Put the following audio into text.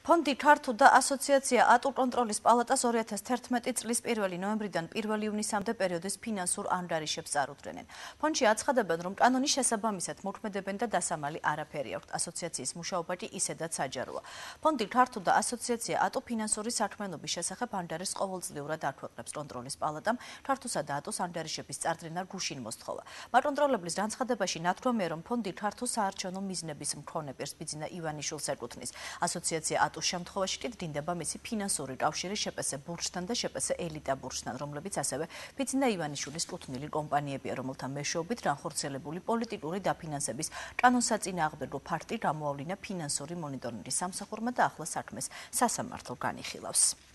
ფონდი ქართულ და ასოციაცია ატო კონტროლის პალატას 2011 წლის 1 ნოემბრიდან 1 ივნისამდე პერიოდის ფინანსურ ანგარიშებს წარუდგენენ. ფონდში აცხადებენ, რომ კანონის შესაბამისად მოქმედებენ და დასამალი არაფერი აქვთ. ასოციაციის მუშაობა კი ისედაც საჯაროა. ფონდი ქართულ და ასოციაცია ატო ფინანსური საქმიანობის შესახებ ანგარიშს ყოველწლიურად აქვეყნებს კონტროლის პალატამ. ქართულსა და ატოს ანგარიშების წარდგენა გუშინ მოსთხოვა. მაკონტროლებლის განცხადებაში ნათქვამია, რომ ფონდი ქართულ საარჩევნო მიზნების მქონე პირს ბიძინა ივანიშვილს ეკუთვნის. ასოციაცია ატოს შემთხვევაში კი დგინდება მისი ფინანსური კავშირი შპს ბურჯთან და შპს ელიტა ბურჯთან, რომლებიც ასევე ბიძინა ივანიშვილის კუთვნილი კომპანიებია, რომელთა მეშვეობით განხორციელებული პოლიტიკური დაფინანსების კანონსაწინააღმდეგო ფაქტი გამოავლინა ფინანსური მონიტორინგის სამსახურმა და ახლა საქმეს სასამართლო განიხილავს.